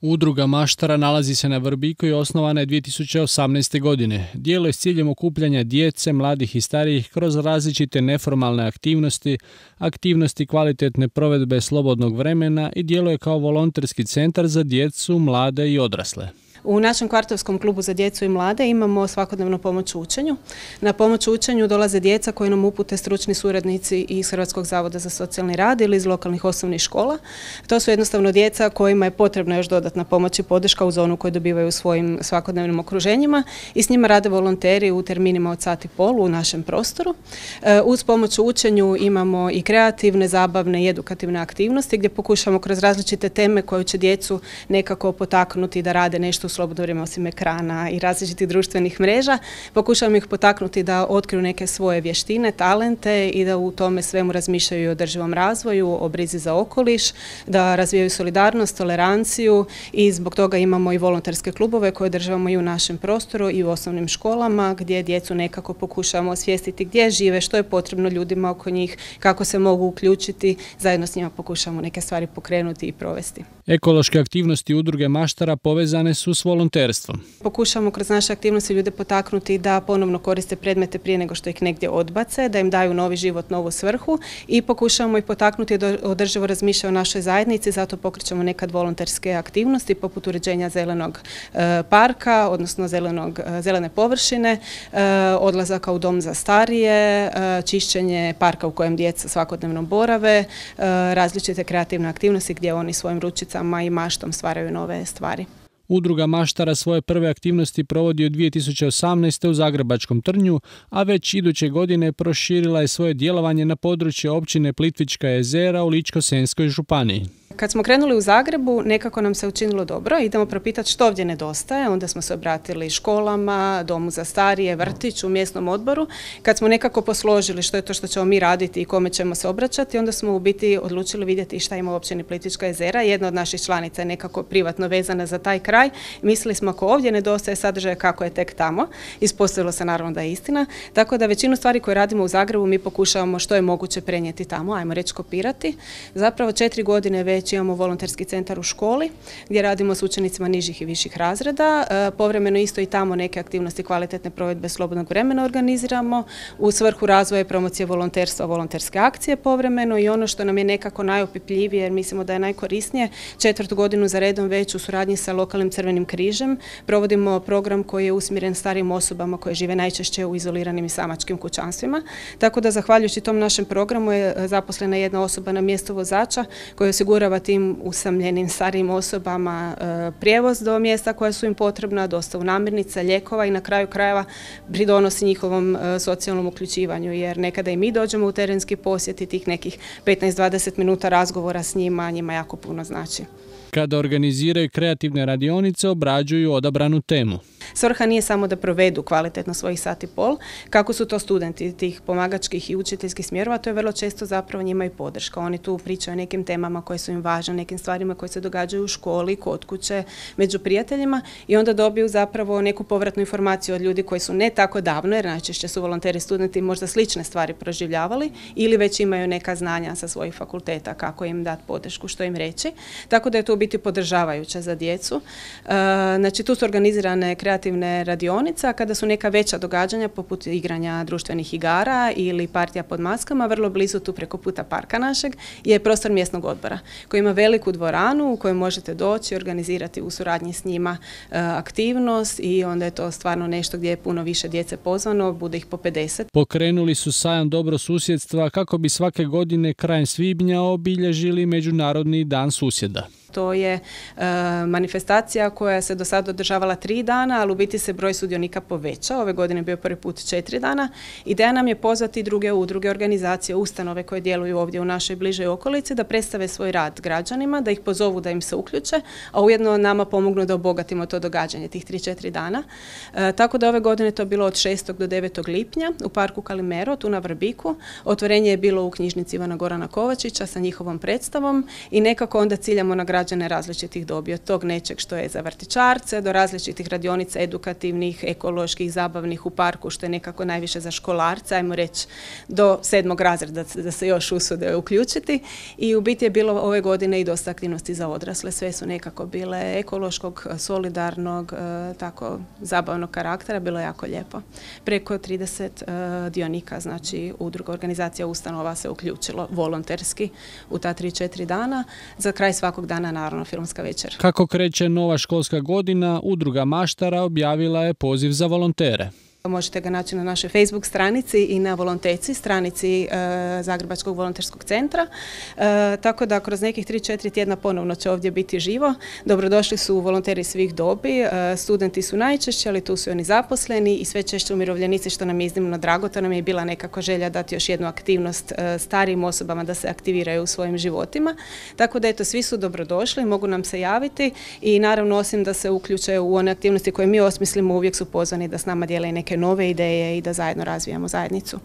Udruga Maštara nalazi se na Vrbiku i osnovana je 2018. godine. Djeluje s ciljem okupljanja djece, mladih i starijih kroz različite neformalne aktivnosti, aktivnosti kvalitetne provedbe slobodnog vremena i djeluje kao volonterski centar za djecu, mlade i odrasle. U našem kvartovskom klubu za djecu i mlade imamo svakodnevnu pomoć u učenju. Na pomoć u učenju dolaze djeca koji nam upute stručni suradnici iz Hrvatskog zavoda za socijalni rad ili iz lokalnih osnovnih škola. To su jednostavno djeca kojima je potrebna još dodatna pomoć i podrška uz onu koju dobivaju u svojim svakodnevnim okruženjima i s njima rade volonteri u terminima od sat i pol u našem prostoru. Uz pomoć u učenju imamo i kreativne, zabavne i edukativne aktivnosti gdje pokušamo kroz različite teme koje će djecu nekako potaknuti da rade nešto u slobodno vrijeme osim ekrana i različitih društvenih mreža. Pokušavamo ih potaknuti da otkriju neke svoje vještine, talente i da u tome svemu razmišljaju o održivom razvoju, o brizi za okoliš, da razvijaju solidarnost, toleranciju i zbog toga imamo i volonterske klubove koje održavamo i u našem prostoru i u osnovnim školama gdje djecu nekako pokušavamo osvijestiti gdje žive, što je potrebno ljudima oko njih, kako se mogu uključiti, zajedno s njima pokušavamo neke stvari pokrenuti i provesti. Ekološke aktivnosti Udruge Maštara povezane su s volonterstvom. Pokušamo kroz naše aktivnosti ljude potaknuti da ponovno koriste predmete prije nego što ih negdje odbace, da im daju novi život, novu svrhu i pokušamo ih potaknuti da održivo razmišljaju o našoj zajednici, zato pokrećemo nekad volonterske aktivnosti poput uređenja zelenog parka, odnosno zelene površine, odlazaka u dom za starije, čišćenje parka u kojem djeca svakodnevno borave, različite kreativne aktivnosti gdje oni svojim ručicama i maštom stvaraju nove stvari. Udruga Maštara svoje prve aktivnosti provodi od 2018. u Zagrebačkom Trnju, a već iduće godine proširila je svoje djelovanje na područje općine Plitvička jezera u Ličko-senjskoj županiji. Kad smo krenuli u Zagrebu, nekako nam se učinilo dobro, idemo propitati što ovdje nedostaje, onda smo se obratili školama, domu za starije, vrtiću, mjesnom odboru. Kad smo nekako posložili što je to što ćemo mi raditi i kome ćemo se obraćati, onda smo u biti odlučili vidjeti šta ima u općini Plitvička jezera. Jedna od naših članica je nekako privatno vezana za taj kraj. Mislili smo ako ovdje nedostaje sadržaja kako je tek tamo. Ispostavilo se naravno da je istina. Tako da većinu stvari koje radimo u Zagrebu mi pokušavamo što je moguće prenijeti tamo, ajmo reći kopirati. Zapravo 4 godine već imamo volonterski centar u školi gdje radimo s učenicima nižih i viših razreda. Povremeno isto i tamo neke aktivnosti kvalitetne provedbe slobodnog vremena organiziramo u svrhu razvoja i promocije volonterstva, volonterske akcije povremeno i ono što nam je nekako najopipljivije jer mislimo da je najkorisnije, 4. godinu za redom već u suradnji sa lokalnim Crvenim križem provodimo program koji je usmjeren starijim osobama koje žive najčešće u izoliranim i samačkim kućanstvima. Tako da zahvaljujući tom našem programu je zaposlena jedna osoba na mjestu vozača koja osigurava tim usamljenim starijim osobama prijevoz do mjesta koja su im potrebna, dostavu namirnica, lijekova i na kraju krajeva pridonosi njihovom socijalnom uključivanju jer nekada i mi dođemo u terenski posjet i tih nekih 15-20 minuta razgovora s njima jako puno znači. Kada organiziraju kreativne radionice, obrađuju odabranu temu. Svrha nije samo da provedu kvalitetno svojih sat i pol, kako su to studenti tih pomagačkih i učiteljskih smjerova, to je vrlo često zapravo njima i podrška. Oni tu pričaju o nekim temama koje su im važne, nekim stvarima koje se događaju u školi, kod kuće, među prijateljima i onda dobiju zapravo neku povratnu informaciju od ljudi koji su ne tako davno, jer najčešće su volonteri studenti možda slične stvari proživljavali ili već imaju neka znanja sa svojih fakulteta kako im dati podršku, što im reći. Tako da je to u biti podržavajuće za djecu. Znači tu su organizirane kreativne radionice, a kada su neka veća događanja poput igranja društvenih igara ili partija pod maskama, vrlo blizu tu preko puta parka našeg je prostor mjesnog odbora koji ima veliku dvoranu u kojoj možete doći i organizirati u suradnji s njima aktivnost i onda je to stvarno nešto gdje je puno više djece pozvano, bude ih po 50. Pokrenuli su sajam dobrosusjedstva kako bi svake godine krajem svibnja obilježili Međunarodni dan susjeda. To je manifestacija koja se do sada održavala 3 dana, ali u biti se broj sudionika povećao. Ove godine je bio prvi put 4 dana. Ideja nam je pozvati druge udruge, organizacije, ustanove koje djeluju ovdje u našoj bližoj okolici da predstave svoj rad građanima, da ih pozovu da im se uključe, a ujedno nama pomognu da obogatimo to događanje tih 3-4 dana. Tako da ove godine to je bilo od 6. do 9. lipnja u parku Kalimero, tu na Vrbiku. Otvorenje je bilo u knjižnici Ivana Gorana Kovačića sa njihovom predstavom i nekako onda ciljamo na građane različitih dobi, od tog nečeg što je za vrtićarce do različitih radionica edukativnih, ekoloških, zabavnih u parku, što je nekako najviše za školarce, ajmo reći do 7. razreda da se još usude uključiti. I u biti je bilo ove godine i dosta aktivnosti za odrasle. Sve su nekako bile ekološkog, solidarnog, tako zabavnog karaktera. Bilo je jako lijepo. Preko 30 dionika, znači udruga, organizacija, ustanova se uključilo volonterski u ta 3-4 dana. Za kraj svakog dana naravno filmska večer. Kako kreće nova školska godina, udruga Maštara objavila je poziv za volontere. Možete ga naći na našoj Facebook stranici i na Volonteci, stranici Zagrebačkog volonterskog centra. Tako da kroz nekih 3-4 tjedna ponovno će ovdje biti živo. Dobrodošli su volonteri svih dobi, studenti su najčešće, ali tu su i oni zaposleni i sve češće umirovljenici, što nam je iznimno drago. To nam je bila nekako želja dati još jednu aktivnost starijim osobama da se aktiviraju u svojim životima. Tako da eto, svi su dobrodošli, mogu nam se javiti i naravno osim da se uključe u one aktivnosti koje mi osmislimo, uvijek su pozvani da s nama dijele neke nove ideje i da zajedno razvijamo zajednicu.